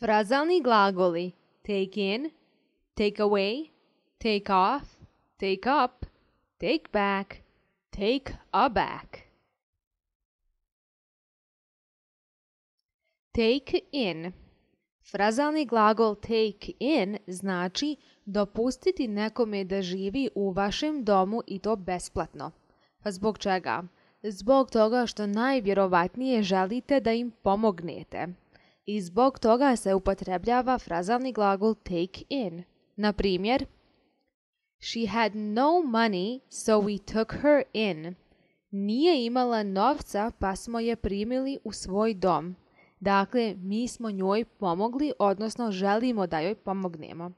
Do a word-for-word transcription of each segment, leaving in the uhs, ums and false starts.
Frazalni glagoli take in, take away, take off, take up, take back, take aback. Take in. Frazalni glagol take in znači dopustiti nekome da živi u vašem domu i to besplatno. Pa zbog čega? Zbog toga što najvjerovatnije želite da im pomognete. I zbog toga se upotrebljava frazalni glagol take in. Na primjer, She had no money, so we took her in. Nije imala novca, pa smo je primili u svoj dom. Dakle, mi smo njoj pomogli, odnosno želimo da joj pomognemo.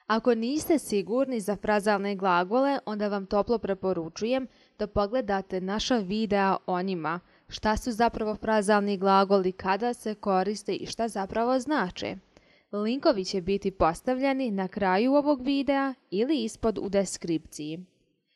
Ako niste sigurni za frazalne glagole, onda vam toplo preporučujem da pogledate naša videa o njima, šta su zapravo frazalni glagoli, kada se koriste i šta zapravo znače. Linkovi će biti postavljeni na kraju ovog videa ili ispod u deskripciji.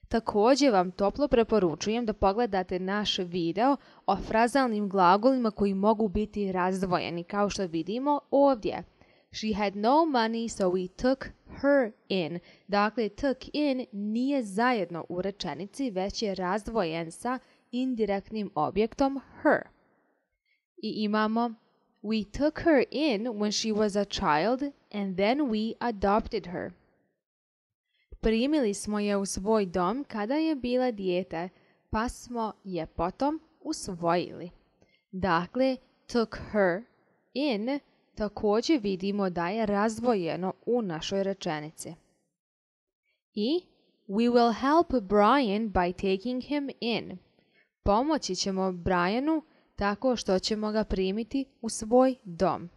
Također vam toplo preporučujem da pogledate naš video o frazalnim glagolima koji mogu biti razdvojeni, kao što vidimo ovdje. She had no money, so we took her in. Dakle, took in nije zajedno u rečenici, već je razdvojen sa indirektnim objektom her. I imamo We took her in when she was a child and then we adopted her. Primili smo je u svoj dom kada je bila dijete, pa smo je potom usvojili. Dakle, took her in također vidimo da je razdvojeno u našoj rečenici. I we will help Brian by taking him in. Pomoći ćemo Brianu tako što ćemo ga primiti u svoj dom.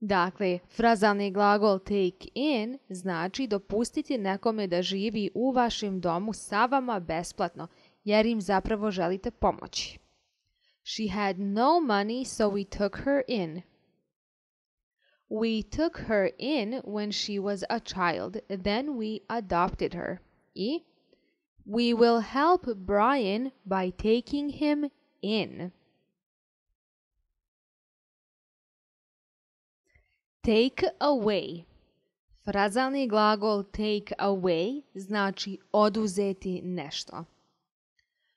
Dakle, frazalni glagol take in znači dopustiti nekome da živi u vašem domu sa vama besplatno, jer im zapravo želite pomoći. She had no money, so we took her in. We took her in when she was a child, then we adopted her. I we will help Brian by taking him in. Take away. Frazalni glagol take away znači oduzeti nešto.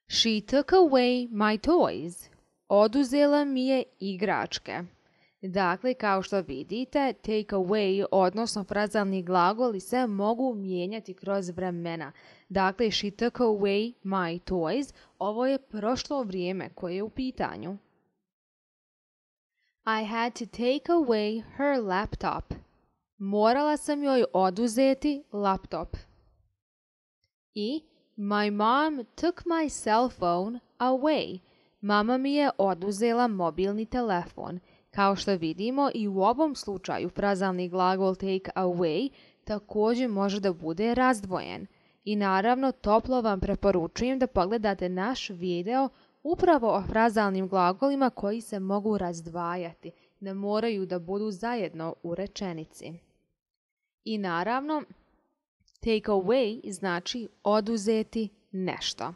She took away my toys. Oduzela mi je igračke. Dakle, kao što vidite, take away, odnosno frazalni glagoli se mogu mijenjati kroz vremena. Dakle, she took away my toys. Ovo je prošlo vrijeme koje je u pitanju. I had to take away her laptop. Morala sam joj oduzeti laptop. I my mom took my cell phone away. Mama mi je oduzela mobilni telefon. Kao što vidimo, i u ovom slučaju frazalni glagol take away također može da bude razdvojen. I naravno, toplo vam preporučujem da pogledate naš video upravo o frazalnim glagolima koji se mogu razdvajati, ne moraju da budu zajedno u rečenici. I naravno, take away znači oduzeti nešto.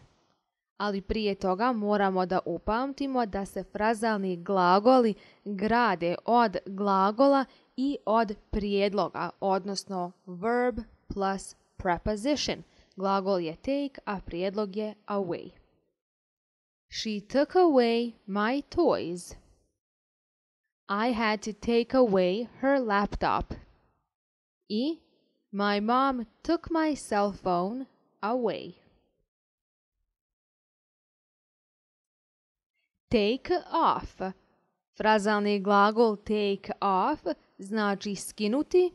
Ali prije toga moramo da upamtimo da se frazalni glagoli grade od glagola i od prijedloga, odnosno verb plus preposition. Glagol je take, a prijedlog je away. She took away my toys. I had to take away her laptop. I my mom took my cell phone away. Take off. Frazalni glagol take off znači skinuti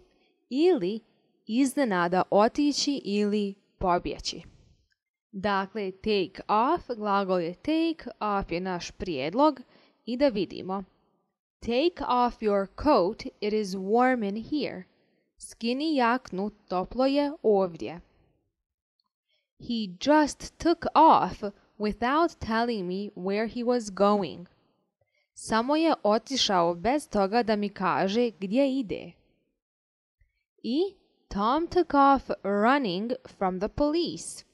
ili iznenada otići ili pobjeći. Dakle, take off, glagol je take, off je naš prijedlog i da vidimo. Take off your coat, it is warm in here. Skini jaknu, toplo je ovdje. He just took off without telling me where he was going. Samo je otišao bez toga da mi kaže gdje ide. I Tom took off running from the police.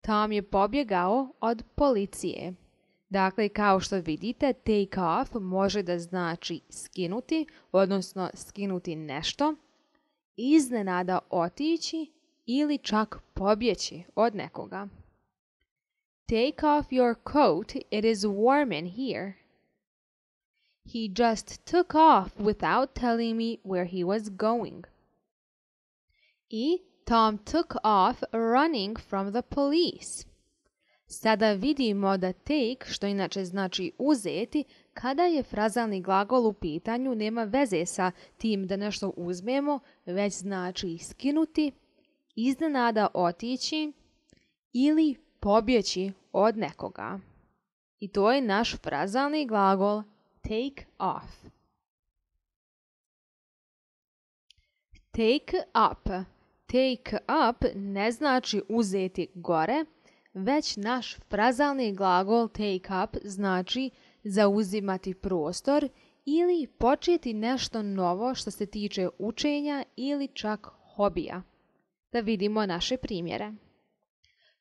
Tom je pobjegao od policije. Dakle, kao što vidite, take off može da znači skinuti, odnosno skinuti nešto, iznenada otići ili čak pobjeći od nekoga. Take off your coat, it is warm in here. He just took off without telling me where he was going. I Tom took off running from the police. Sada vidimo da take, što inače znači uzeti, kada je frazalni glagol u pitanju, nema veze sa tim da nešto uzmemo, već znači skinuti, iznenada otići ili pobjeći od nekoga. I to je naš frazalni glagol take off. Take up. Take up ne znači uzeti gore, već naš frazalni glagol take up znači zauzimati prostor ili početi nešto novo što se tiče učenja ili čak hobija. Da vidimo naše primjere.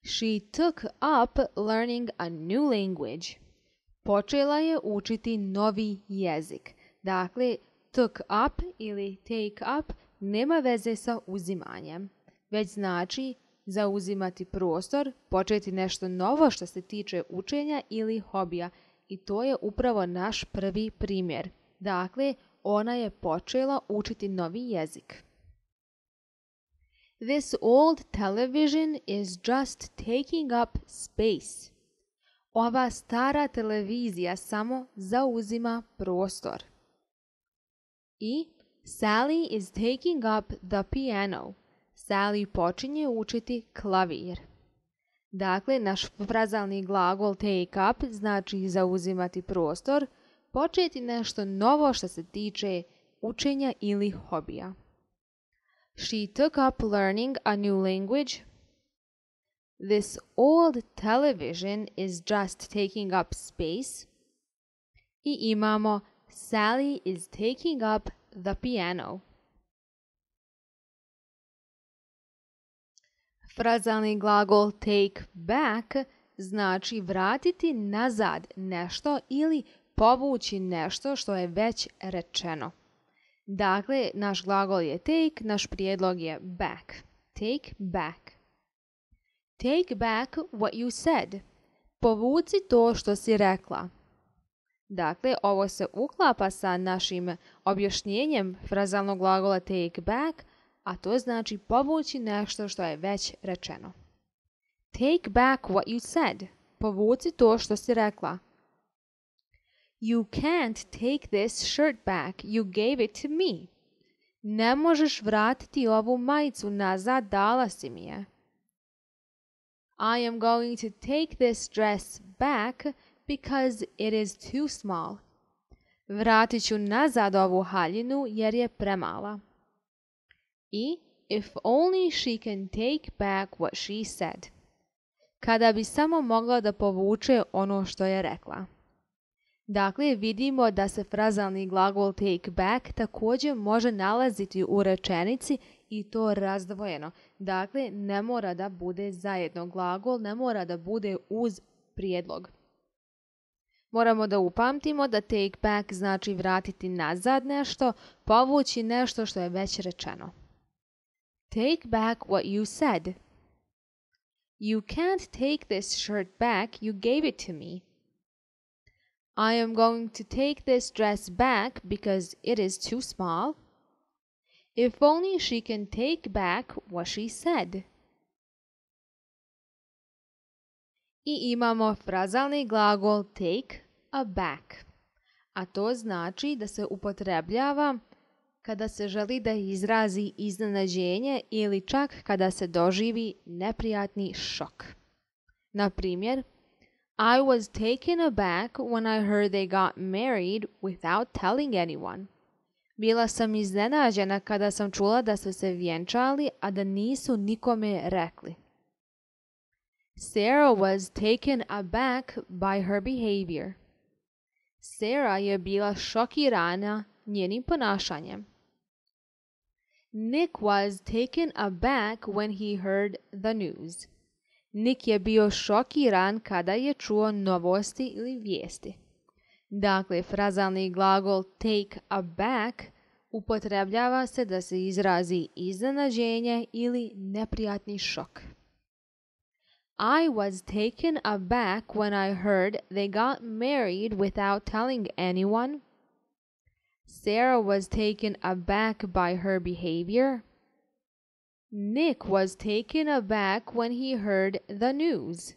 She took up learning a new language. Počela je učiti novi jezik. Dakle, took up ili take up nema veze sa uzimanjem, već znači zauzimati prostor, početi nešto novo što se tiče učenja ili hobija. I to je upravo naš prvi primjer. Dakle, ona je počela učiti novi jezik. This old television is just taking up space. Ova stara televizija samo zauzima prostor. I Sally is taking up the piano. Sally počinje učiti klavir. Dakle, naš frazalni glagol take up znači zauzimati prostor, početi nešto novo što se tiče učenja ili hobija. She took up learning a new language. This old television is just taking up space. I imamo Sally is taking up the piano. Frazalni glagol take back znači vratiti nazad nešto ili povući nešto što je već rečeno. Dakle, naš glagol je take, naš prijedlog je back. Take back. Take back what you said. Povuci to što si rekla. Dakle, ovo se uklapa sa našim objašnjenjem frazalnog glagola take back, a to znači povući nešto što je već rečeno. Take back what you said. Povuci to što si rekla. You can't take this shirt back. You gave it to me. Ne možeš vratiti ovu majicu nazad, dala si mi je. I am going to take this dress back because it is too small. Vratit ću nazad ovu haljinu jer je premala. I if only she can take back what she said. Kada bi samo mogla da povuče ono što je rekla. Dakle, vidimo da se frazalni glagol take back također može nalaziti u rečenici i to razdvojeno. Dakle, ne mora da bude zajedno glagol, ne mora da bude uz prijedlog. Moramo da upamtimo da take back znači vratiti nazad nešto, povući nešto što je već rečeno. Take back what you said. You can't take this shirt back, you gave it to me. I am going to take this dress back because it is too small. If only she can take back what she said. I imamo frazalni glagol take aback, a to znači da se upotrebljava kada se želi da izrazi iznenađenje ili čak kada se doživi neprijatni šok. Na primjer, I was taken aback when I heard they got married without telling anyone. Bila sam iznenađena kada sam čula da su se vjenčali, a da nisu nikome rekli. Sarah was taken aback by her behavior. Sarah je bila šokirana njenim ponašanjem. Nick was taken aback when he heard the news. Nick je bio šokiran kada je čuo novosti ili vijesti. Dakle, frazalni glagol take aback upotrebljava se da se izrazi iznenađenje ili neprijatni šok. I was taken aback when I heard they got married without telling anyone. Sarah was taken aback by her behavior. Nick was taken aback when he heard the news.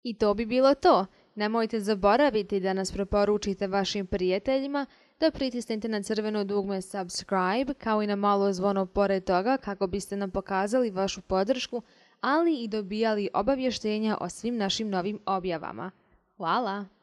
I to bi bilo to. Nemojte zaboraviti da nas preporučite vašim prijateljima, da pritisnete na crveno dugme subscribe, kao i na malo zvono pored toga kako biste nam pokazali vašu podršku, ali i dobijali obavještenja o svim našim novim objavama. Hvala!